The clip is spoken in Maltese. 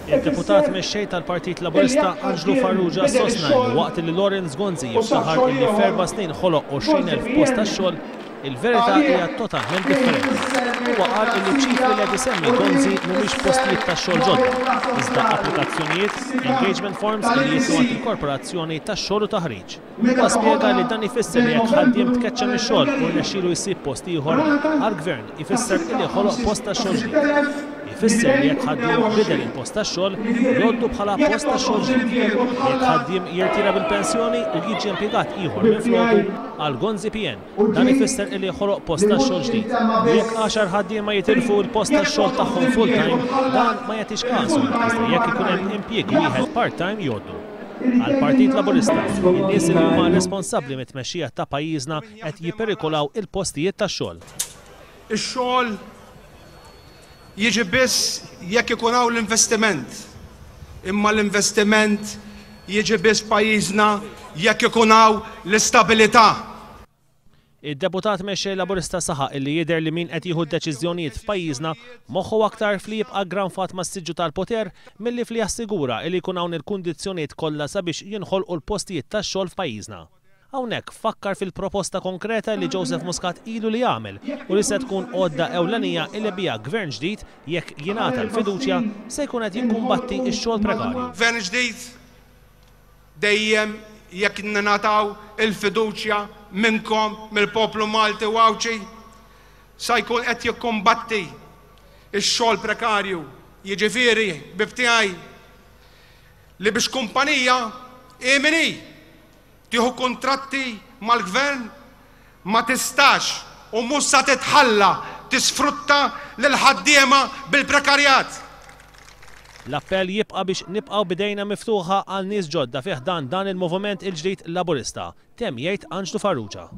Id-Deputat Mexxej tal-Partit Laburista Anġlu Farrugia sostna li waqt li Lawrence Gonzi jiftaħar illi f'erba' snin ħoloq 20,000 post tax-xogħol, il-verità hija totalment differenti. Huwa qal illi ċ-ċifri li qed isemmi Gonzi mhumiex postijiet tax-xogħol ġodda, iżda applikazzjonijiet, engagement forms illi jitlu għand il-Korporazzjoni tax-Xogħol u Taħriġ. Huwa spjega li dan ifisser li jekk ħaddiem tkeċċa mix-xogħol u rnexxielu jsib post ieħor, għall-Gvern ifisser illi ħoloq post tax-xogħol ġdid. Ifisser li jekk ħaddiem bidel il-post tax-xogħol, jgħoddu bħala post tax-xogħol ġdid. Jekk ħaddiem jirtira bil-pensjoni u jiġi impjegat ieħor minfloku, għal Gonzi PN, dan ifisser illi ħoloq post tax-xogħol ġdid. U jekk għaxar ħaddiema jitilfu l-post tax-xogħol tagħhom full-time, dan ma jagħtix kasu, iżda jekk ikun hemm impjieg wieħed part-time jgħoddu. Għall-Partit Laburista, in-nies li huma responsabbli mit-tmexxija ta' pajjiżna qed jipperikolaw il-postijiet tax-xogħol. Ix-xogħol jiġi biss jekk ikun hawn l-investiment. Imma l-investiment jiġi biss f'pajjiżna jekk ikun hawn l-istabilità. Id-Deputat Mexxej Laburista saħaq illi jidher li min qed jieħu d-deċiżjonijiet f'pajjiżna moħħu aktar f'li jibqa' ggranfat mas-siġġu tal-poter milli f'li jassigura illi jkun hawn il-kundizzjonijiet kollha sabiex jinħolqu l-postijiet tax-xogħol f'pajjiżna. Hawnhekk fakkar fil-proposta konkreta illi Joseph Muscat ilu li għamel u li se tkun għodda ewlenija illi biha Gvern ġdid, jekk jingħata l-fiduċja, se jkun qed jikkumbatti x-xogħol prekarju. Gvern ġdid Dejjem jekk ningħataw il-fiduċja minnkom, mill-poplu Malti u Għawdxi, sa jkun qed jikkumbatti x-xogħol prekarju, jiġifieri, ħbieb tiegħi, li biex kumpanija, hi min hi, tieħu kuntratti mal-Gvern, ma tistax u mhux sa titħalla tisfrutta lill-ħaddiema bil-prekarjat. L-appell jibqa' biex nibqgħu b'idejna miftuħa għal nies ġodda fi ħdan dan il-moviment il-ġdid Laburista, temm jgħid Anġlu Farrugia.